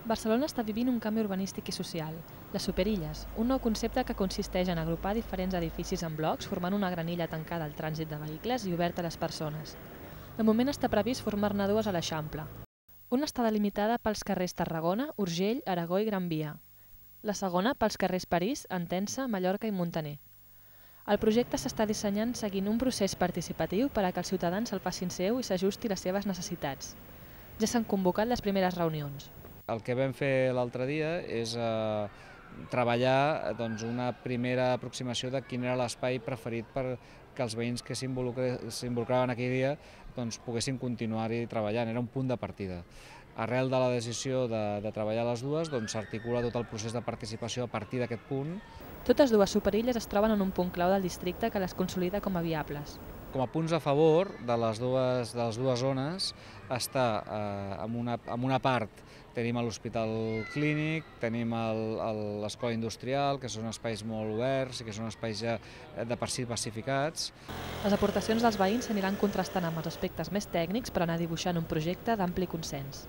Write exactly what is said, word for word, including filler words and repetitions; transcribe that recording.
Barcelona està vivint un canvi urbanístic i social. Les superilles, un nou concepte que consisteix en agrupar diferents edificis en blocs formant una gran illa tancada al trànsit de vehicles i oberta a les persones. De moment està previst formar-ne dues a l'Eixample. Una està delimitada pels carrers Tarragona, Urgell, Aragó i Gran Via. La segona pels carrers París, Entença, Mallorca i Muntaner. El projecte s'està dissenyant seguint un procés participatiu per a que els ciutadans se'l facin seu i s'ajusti a les seves necessitats. Ja s'han convocat les primeres reunions. El que vam fer l'altre dia és eh, treballar doncs, una primera aproximació de quin era l'espai preferit per que els veïns que s'involucraven aquell dia doncs, poguessin continuar-hi treballant. Era un punt de partida. Arrel de la decisió de, de treballar les dues, doncs, s'articula tot el procés de participació a partir d'aquest punt. Totes dues superilles es troben en un punt clau del districte que les consolida com a viables. Com a punts a favor de les dues, de les dues zones està eh, en, una, en una part tenim l'hospital clínic, tenim l'escola industrial, que són espais molt oberts i que són espais ja de per si pacificats. Les aportacions dels veïns s'aniran contrastant amb els aspectes més tècnics per anar dibuixant un projecte d'ampli consens.